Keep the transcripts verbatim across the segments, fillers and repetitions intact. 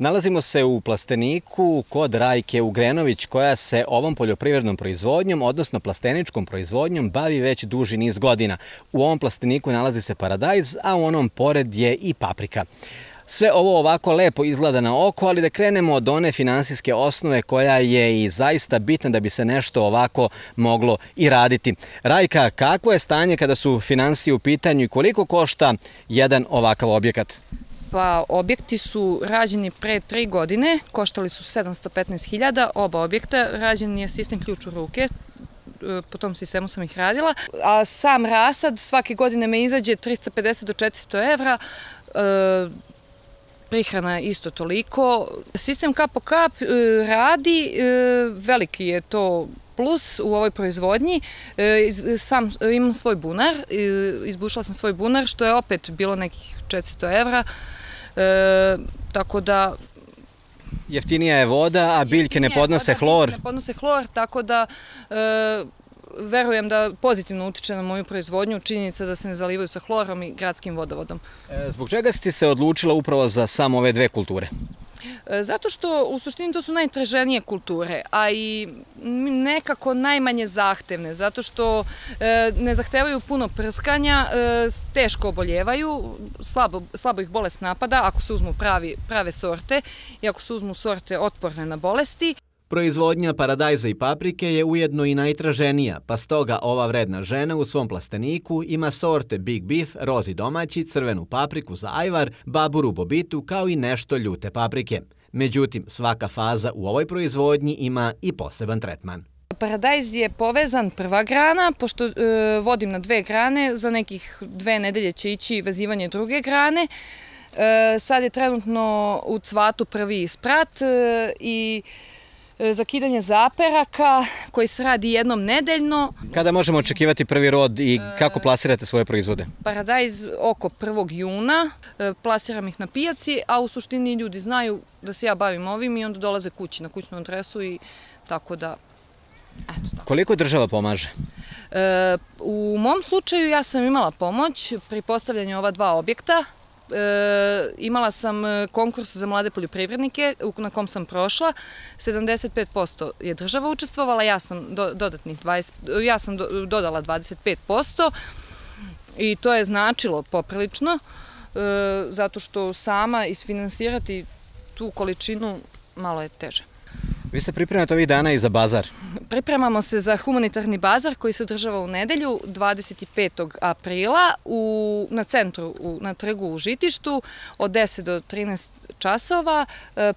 Nalazimo se u plasteniku kod Rajke Ugrenović, koja se ovom poljoprivrednom proizvodnjom, odnosno plasteničkom proizvodnjom, bavi već duži niz godina. U ovom plasteniku nalazi se paradajz, a u onom pored je i paprika. Sve ovo ovako lepo izgleda na oko, ali da krenemo od one finansijske osnove koja je i zaista bitna da bi se nešto ovako moglo i raditi. Rajka, kako je stanje kada su finansije u pitanju i koliko košta jedan ovakav objekat? Pa, objekti su rađeni pre tri godine, koštali su sedamsto petnaest hiljada, oba objekta, rađen je sistem ključ u ruke, po tom sistemu sam ih radila, a sam rasad svake godine me izađe trista pedeset do četiristo evra, prihrana isto toliko. Sistem kap po kap radi, veliki je to plus u ovoj proizvodnji. Sam imam svoj bunar, izbušila sam svoj bunar, što je opet bilo nekih četiristo evra, tako da... Jeftinija je voda, a biljke ne podnose hlor. Ne podnose hlor, tako da verujem da pozitivno utiče na moju proizvodnju, činjenica da se ne zalivaju sa hlorom i gradskim vodovodom. Zbog čega si se odlučila upravo za samo ove dve kulture? Zato što u suštini to su najtraženije kulture, a i nekako najmanje zahtevne, zato što ne zahtevaju puno prskanja, teško oboljevaju, slabo ih bolest napada ako se uzmu prave sorte i ako se uzmu sorte otporne na bolesti. Proizvodnja paradajza i paprike je ujedno i najtraženija, pa stoga ova vredna žena u svom plasteniku ima sorte Big Beef, rozi domaći, crvenu papriku za ajvar, baburu bobitu, kao i nešto ljute paprike. Međutim, svaka faza u ovoj proizvodnji ima i poseban tretman. Paradajz je povezan prva grana, pošto vodim na dve grane, za nekih dve nedelje će ići vezivanje druge grane. Sad je trenutno u cvatu prvi sprat i zakidanje zaperaka koji se radi jednom nedeljno. Kada možemo očekivati prvi rod i kako plasirate svoje proizvode? Paradajz oko prvog juna, plasiram ih na pijaci, a u suštini ljudi znaju da se ja bavim ovim i onda dolaze kući na kućnu adresu i tako da, eto tako. Koliko država pomaže? U mom slučaju ja sam imala pomoć pri postavljanju ova dva objekta. Imala sam konkurs za mlade poljoprivrednike na kom sam prošla, sedamdeset pet posto je država učestvovala, ja sam dodatnih dvadeset, ja sam dodala dvadeset pet posto i to je značilo poprilično, zato što sama isfinansirati tu količinu malo je teže. Vi se pripremate ovih dana i za bazar? Pripremamo se za humanitarni bazar koji se održava u nedelju dvadeset petog aprila na centru, na trgu u Žitištu od deset do trinaest časova.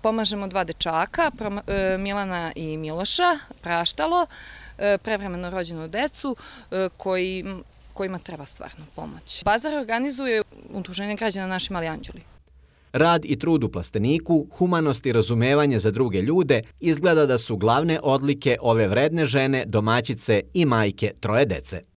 Pomažemo dva dečaka, Milana i Miloša, praštalo, prevremeno rođenu decu kojima treba stvarno pomoć. Bazar organizuje Udruženje građana Naši mali anđeli. Rad i trud u plasteniku, humanost i razumevanje za druge ljude izgleda da su glavne odlike ove vredne žene, domaćice i majke troje dece.